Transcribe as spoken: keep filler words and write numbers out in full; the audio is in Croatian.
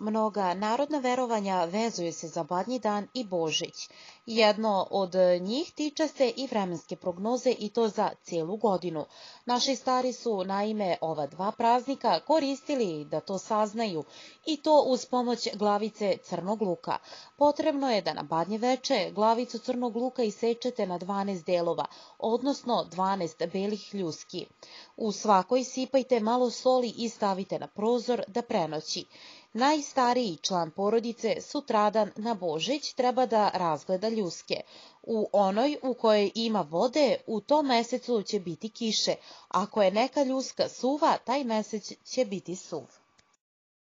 Mnoga narodna verovanja vezuju se za Badnji dan i Božić. Jedno od njih tiče se i vremenske prognoze i to za cijelu godinu. Naši stari su naime ova dva praznika koristili da to saznaju i to uz pomoć glavice crnog luka. Potrebno je da na Badnje veče glavicu crnog luka isečete na dvanaest delova, odnosno dvanaest belih ljuski. U svakoj sipajte malo soli i stavite na prozor da prenoći. Najstariji član porodice sutradan na Božić treba da razgleda ljuske. U onoj u kojoj ima vode, u tom mesecu će biti kiše. Ako je neka ljuska suva, taj mesec će biti suv.